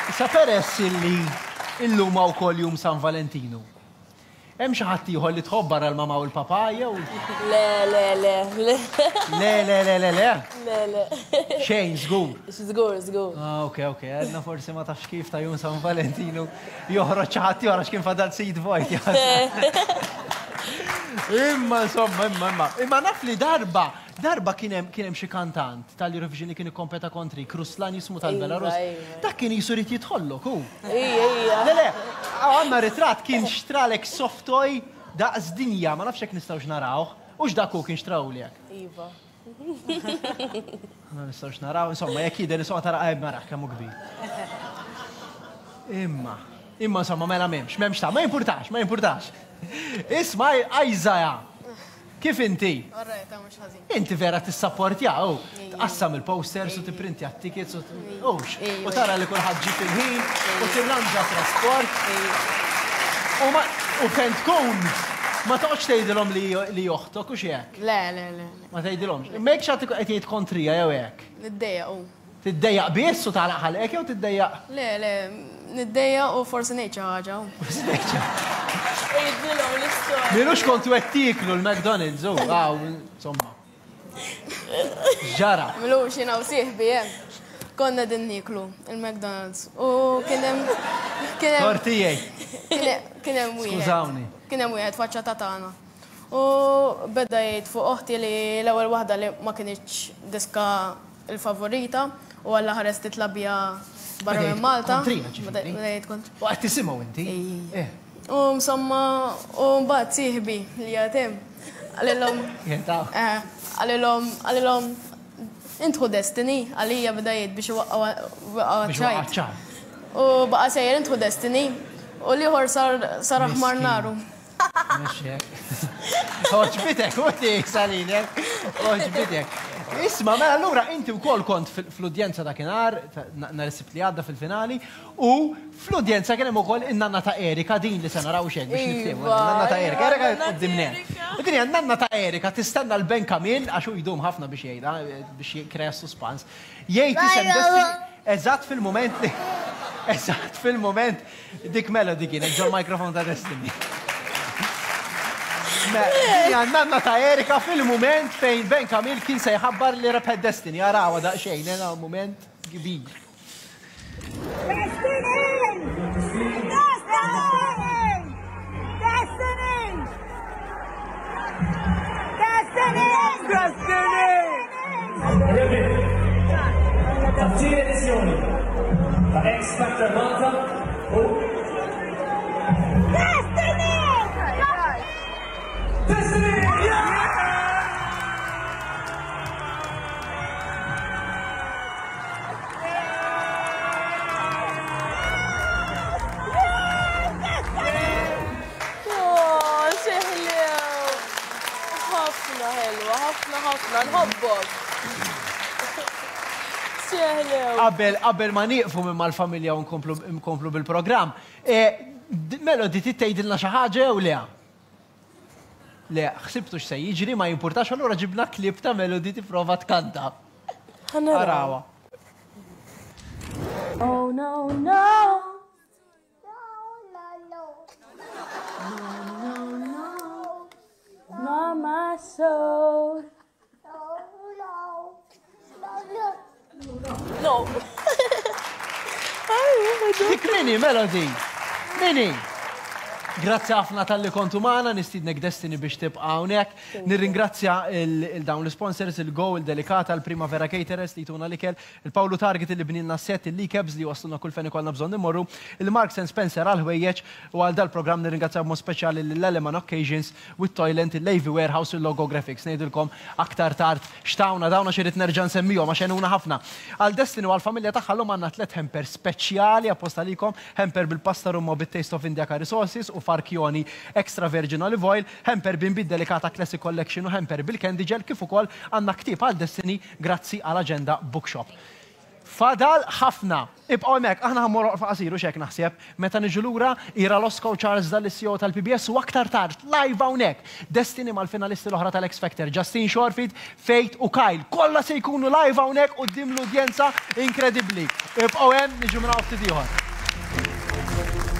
Issa peress illi illum hawn ukoll jum San Valentinu. Hemm xi ħadd ieħor li tħobb barra l-mamà u l-papà jew? Le, le, le, le. Le, le, le, le, le? Le, le. Xejn, żgur. Żgur, żgur. Ah, ok, ok. Għedna forsi ma tafx kif ta' jum San Valentinu joħroġ xi ħadd ieħor għax kien fadal seat vojt. Imma insomma, imma, imma. Imma naf li darba, darba kien hemm kien hemm xi kantant tal-Eurovision li kien ikkompeta kontrik, Ruslan jismu tal-Belarus. Iva, iva. Dak kien jisu jrid jidħollok hu. Ija, ija. Le, le, għandna ritratt kien xtralek soft toy daqs dinja, ma nafx jekk nistgħux narawh. Hux dak hu kien xtrawlek? Iva. Ma nistgħux naraw, insomma, jekk jidher insomma tara qajb mara kemm hu kbir. Imma, imma insomma mela m'hemmx, m'hemmx ta' ma jimpurtax, ma jimpurtax. Isma' Isaiah, kif inti? Alright, ta' mhux ħażin. Inti vera tissapportja, u tqassam il-posters u tipprintja t-tickets u hux. U tara li kulħadd ġie fil-ħin u tirranġa trasport. U ma u fejn tkun ma toqgħodx tgħidilhom li li oħtok u hekk. Le, le, le. Ma tgħidilhomx. Imma jekk xi ħadd qed jgħid kontrija jew hekk. Niddejjaq u. Tiddejjaq biss u tagħlaq ħalqek jew tiddejjaq? Le, le, niddejjaq u forsi ngħid xi ħaġa. Forsi ngħid xi Għidilhom l-istorja. M'ilux kontu qed tieklu l-McDonald's u hawn, insomma. X'ġara? M'ilux jiena u sieħbi hemm. Konna qegħdin nieklu il-McDonald's u kien hemm kien hemm Tort tiegħi. Kien hemm wieħed. Skużawni. Kien hemm wieħed faċċata tagħna. U beda jgħid fuq oħti li l-ewwel waħda li ma kinitx diska il-favorita u Alla ħares titla' biha barra minn Malta. Kontrina ġifieri. Beda jgħid kontra. U qed tisimgħu inti. Eh. U insomma, u mbagħad sieħbi li qiegħed hemm qalilhom. Eh, qalilhom, qalilhom intħu Destiny għalija beda jgħid biex iwaqqgħu ċajt. U baqa' sejjer intħu Destiny u l-ieħor sar aħmar naru. Mhux hekk. Għoġbitek, u salilek, għoġbitek. Isma, mela allura inti wkoll kont fl-udjenza dakinhar, nhar is-Sibt li għadda fil-finali, u fl-udjenza kien hemm ukoll in-nanna ta' Erika din li se naraw xejn biex niftehmu. Iva, Nanna ta' Erika, Erika nanna quddiem net. Erika. U din hija n-nanna ta' Erika tistenna l-Ben Kamil għax hu jdum ħafna biex jgħidha, biex jikkrea s-suspans. Jgħid isem Destiny eżatt fil-mument li eżatt fil-mument Dik Melody kienet ġol microphone ta' Destiny. Hija nanna ta' Erika fil-mument fejn Ben Kamil kien se jħabbar li rebħet Destiny. Arawha daqsxejn, eh, mument kbir. Destiny! Destiny! Destiny! Destiny! Destiny! Rebbieħ tat-tieni edizzjoni ta' X Factor Malta hu Destiny! Destiny! Oh, xi ħlew! Ħafna ħelwa, ħafna ħafna, nħobbok. Xi ħlew. Qabel qabel ma nieqfu minn mal-familja u nkomplu nkomplu bil-programm, eh, d- Melody trid tgħidilna xi ħaġa jew le? Le, ħsibtu x'se jiġri ma jimpurtax allura ġibna klip ta' Melody tipprova tkanta. Arawha. Oh no no. No no no. Not my soul. No. Dik mini, Melody. Mini. Grazzi ħafna talli kontu magħna, nistiednek Destiny biex tibqa' hawnhekk. Nirringrazzja il-dawn l-sponsors, il-Go, il-Delicata, il-Primavera Caterers li jtuna l-ikel, il-Paolo Target li bnilna set, il-Likebs li wasluna kull fejn ikollna bżonn immorru, il-Marks and Spencer għal-ħwejjeġ u għal dal-programm nirringrazzja b'mod speċjali l-Eleman Occasions u t-Toyland, il-Levy Warehouse u l-Logo Graphics. Ngħidilkom aktar tard x'tawna dawn għax irrid nerġa' nsemmihom għax għenuna ħafna. Għal Destiny u għall-familja tagħha llum għandna tlett hampers speċjali apposta għalikom, hamper bil-pasta rummo bit-Taste of India curry sauces u farchioni extra virgin olive oil, hamper b'inbid delicata classic collection u hamper bil-candy gel kif ukoll għandna ktieb għal Destiny grazzi għal Agenda Bookshop. Fadal ħafna. Ibqgħu hemmhekk, aħna ħa mmorru waqfa qasir u x'hekk naħseb. Meta niġu lura, Ira Losco u Charles Dalli CEO tal-PBS u aktar tard, live hawnhekk, Destiny mal-finalisti l-oħra tal-X Factor, Justine Shorfield, Faith u Kyle. Kollha se jkunu live hawnhekk quddiem l-udjenza inkredibbli. Ibqgħu hemm, niġu minn hawn ftit ieħor.